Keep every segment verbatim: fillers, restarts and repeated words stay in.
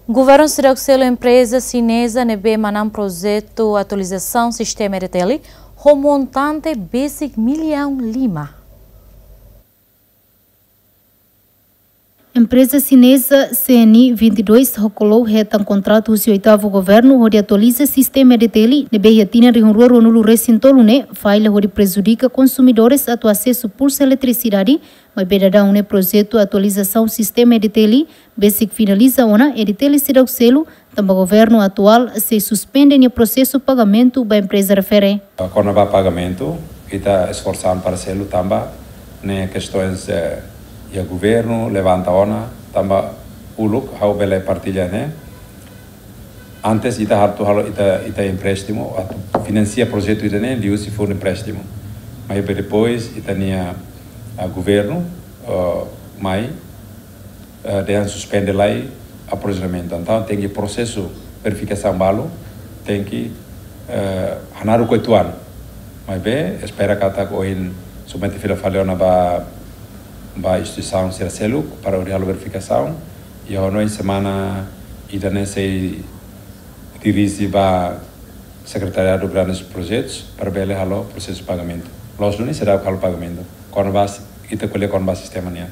Governu seidauk selu empreza xineza ne'ebé manán projetu atualizasaun sistema E D T L ho montante besik millaun lima. Empreza xineza C N I vinte e dois hokolou hetan kontratu husi oitavu governu hodi atualiza sistema E D T L ne'ebé iha tinan rihun rua ruanulu resin tolu ne'e falla hodi prejudika konsumidores atu asesu pulsa eletrisidade, maibé daudaun ne'e projetu atualizasaun sistema E D T L besik finaliza ona, E D T L seidauk selu, tanba governu atuál sei suspende nia prosesu pagamentu ba empreza refere. Kona-ba pagamentu, ita esforsa an para selu tanba ne'e kestaun, eh, iha governu levanta ona, tanba uluk ha'u bele partilla ne'e. Antes ita atu halo ita, ita empréstimu, atu finansia projetu ida-ne'e liuhusi fundu empréstimu. Maibé depois ita-nia, ah, governu, ah, mai, eh, dehan suspende lai aprovizionamentu. Entaun tenke prosesu verifikasaun balu, tenke, eh, hanaruk uitoan. Maibé espera katak ohin submete fila fali ona ba, ba instituisaun sira seluk para hodi halo verifikasaun. I ha'u hanoin semana ida-ne'e sei dirije ba Sekretariadu Grandes Projetus para bele halo prosesu pagamentu. Loos duni seidauk halo pagamentu. Kona-ba s-, ita ko'alia kona-ba sistema nian.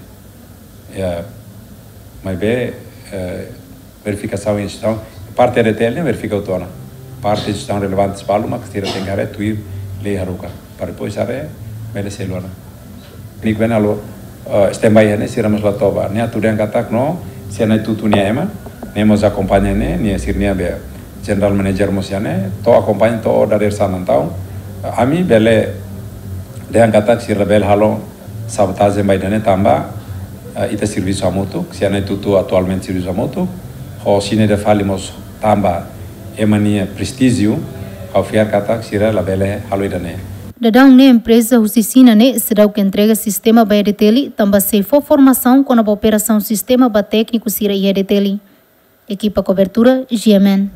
Ya, maibé, eh, verifikasaun instituisaun, parte E D T L ne'e verifika uitoan ona. Parte instituisaun relevante balu mak sira tenke haree tuir lei haruka. Para depois haree bele selu ona. Nik bene halo, eh, standby iha ne'e, sira mós la toba. Nia atu dehan katak no, sira-nia tutu nia ema, nia mós akompaña ne'e, nia sira-nia be general manager mós iha ne'e, to'o akompaña, to'o dadeer sana entaun. Eh, ami bele dehan katak sira bele halo sabotajen ba ida-ne'e tanba, eh, ita servisu hamutuk, sira-nia tutu atualmente servisu hamutuk, ho sira-ne'e ida fali mós tanba ema nia prestíjiu, ha'u fiar katak sira labele halo ida-ne'e. Daudaun ne'e empreza husi Xina ne'e seidauk entrega sistema ba E D T L, tanba sei fó formasaun kona-ba operasaun sistema ba tékniku sira iha E D T L. Ekipa kobertura, G M N.